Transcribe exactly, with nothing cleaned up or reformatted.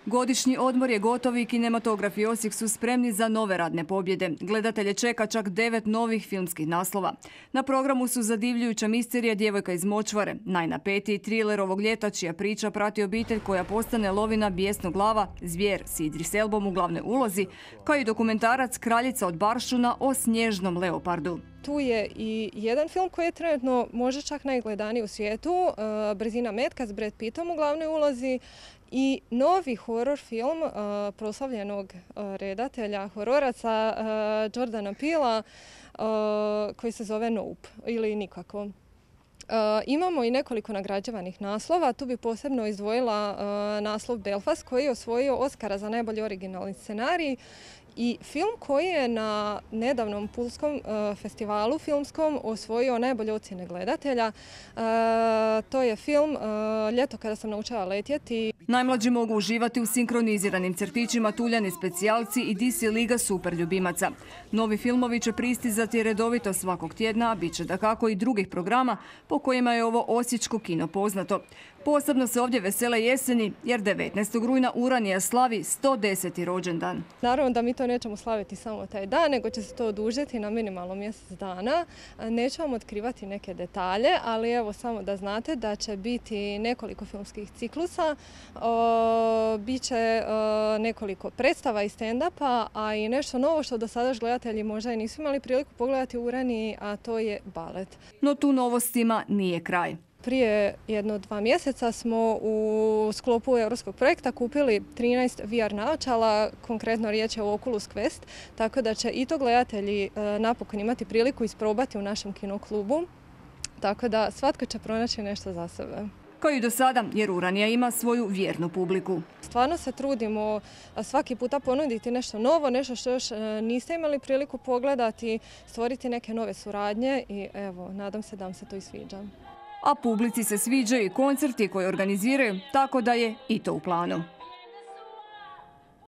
Godišnji odmor je gotov i kinematografi Osijek su spremni za nove radne pobjede. Gledatelje čeka čak devet novih filmskih naslova. Na programu su zadivljujuća misterija Djevojka iz močvare, najnapetiji triler ovog ljeta čija priča prati obitelj koja postane lovina bijesnoglava, zvijer s Idris Elbom u glavnoj ulozi, kao i dokumentarac Kraljica od Baršuna o snježnom leopardu. Tu je i jedan film koji je trenutno možda čak najgledaniji u svijetu, Brzina metka s Brad Pittom u glavnoj ulozi, i novi horor film uh, proslavljenog uh, redatelja hororaca uh, Jordana Peela uh, koji se zove Nope ili Nikako. Uh, imamo i nekoliko nagrađivanih naslova. Tu bi posebno izdvojila uh, naslov Belfast koji je osvojio Oscara za najbolji originalni scenarij. I film koji je na nedavnom Pulskom uh, festivalu filmskom osvojio najbolje ocjene gledatelja. Uh, to je film uh, Ljeto kada sam naučila letjeti. Najmlađi mogu uživati u sinkroniziranim crtićima Tuljani specijalci i D C Liga super ljubimaca. Novi filmovi će pristizati redovito svakog tjedna, a bit će dakako i drugih programa po kojima je ovo osječko kino poznato. Posebno se ovdje vesele jeseni jer devetnaestog rujna Uranija slavi sto deseti rođendan. Naravno da mi to nećemo slaviti samo taj dan, nego će se to odužiti na minimalno mjesec dana. Neću vam otkrivati neke detalje, ali evo samo da znate da će biti nekoliko filmskih ciklusa, o, bit će o, nekoliko predstava i stand-upa, a i nešto novo što do sada još gledatelji možda i nisu imali priliku pogledati u Uraniji, a to je balet. No tu novostima nije kraj. Prije jedno dva mjeseca smo u sklopu europskog projekta kupili trinaest V R naočala, konkretno riječ je o Oculus Quest, tako da će i to gledatelji e, napokon imati priliku isprobati u našem kinoklubu, tako da svatko će pronaći nešto za sebe. Kao i do sada, jer Uranija ima svoju vjernu publiku. Stvarno se trudimo svaki puta ponuditi nešto novo, nešto što još niste imali priliku pogledati, stvoriti neke nove suradnje i evo, nadam se da vam se to i sviđa. A publici se sviđaju i koncerti koje organiziraju, tako da je i to u planu.